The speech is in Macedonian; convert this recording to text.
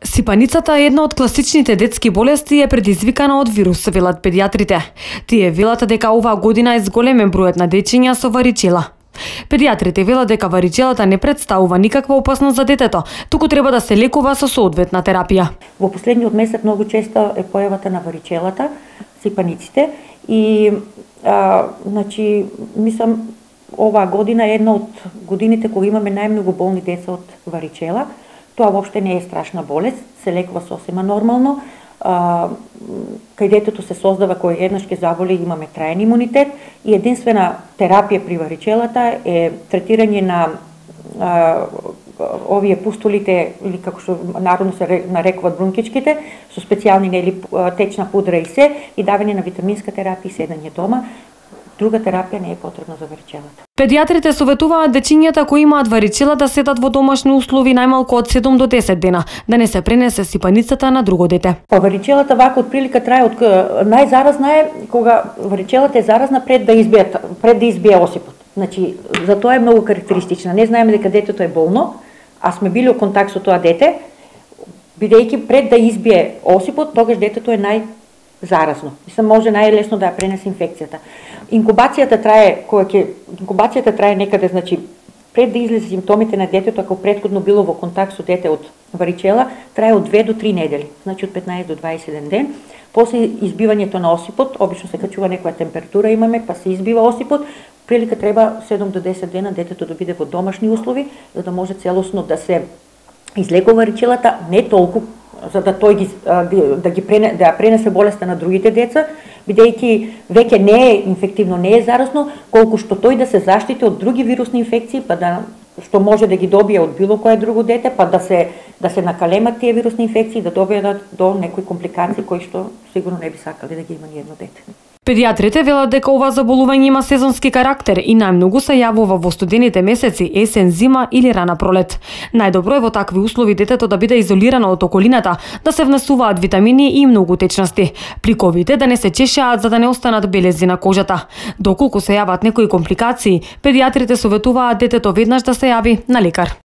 Сипаницата е една од класичните детски болести и е предизвикана од вирус, велат педиатрите. Тие велат дека оваа година е зголемен бројот на дечиња со варичела. Педиатрите велат дека варичелата не представува никаква опасност за детето, туку треба да се лекува со соодветна терапија. Во последниот месец многу често е појавата на варичелата, сипаниците и мислам оваа година е една од годините кога имаме најмногу болни деца од варичела. Тоа воопште не е страшна болест, се лекува сосема нормално. Кај детето се создава кој еднаш ќе заболи, имаме траен имунитет и единствена терапија при варичелата е третирање на овие пустулите, или како што народно се нарекуваат брункичките, со специјални течна пудра и се, и давање на витаминска терапија и седење дома. Друга терапија не е потребна за варичелата. Педиатрите советуваат дечињата кои имаат варичела да седат во домашни услови најмалку од 7 до 10 дена, да не се пренесе сипаницата на друго дете. Варичелата вака од прилика трае од најзаразна е кога варичелата е заразна пред да избие осипот. Значи, за тоа е многу карактеристична. Не знаеме дека детето е болно, а сме били во контакт со тоа дете, бидејќи пред да избие осипот, тогаш детето е заразно. Мислам, може најлесно да ја пренесе инфекцијата. Инкубацијата трае некаде, значи, пред да излезе симптомите на детето, ако претходно било во контакт со дете од варичела, трае од 2 до 3 недели, значи од 15 до 21 ден. После избивањето на осипот, обично се качува некоја температура имаме, па се избива осипот, прилика треба 7 до 10 дена детето да биде во домашни услови, за да може целосно да се излекува варичелата, не толку за да тој да ја пренесе болеста на другите деца, бидејќи веќе не е инфективно, не е заразно, колку што тој да се заштити од други вирусни инфекции, па што може да ги добие од било кое друго дете, па да се накалемат тие вирусни инфекции, да добијат до некои компликации кои што сигурно не би сакале да ги има ни едно дете. Педиатрите велат дека ова заболување има сезонски карактер и најмногу се јавува во студените месеци, есен, зима или рана пролет. Најдобро е во такви услови детето да биде изолирано од околината, да се внесуваат витамини и многу течности. Пликовите да не се чешаат за да не останат белези на кожата. Доколку се јават некои компликации, педиатрите советуваат детето веднаш да се јави на лекар.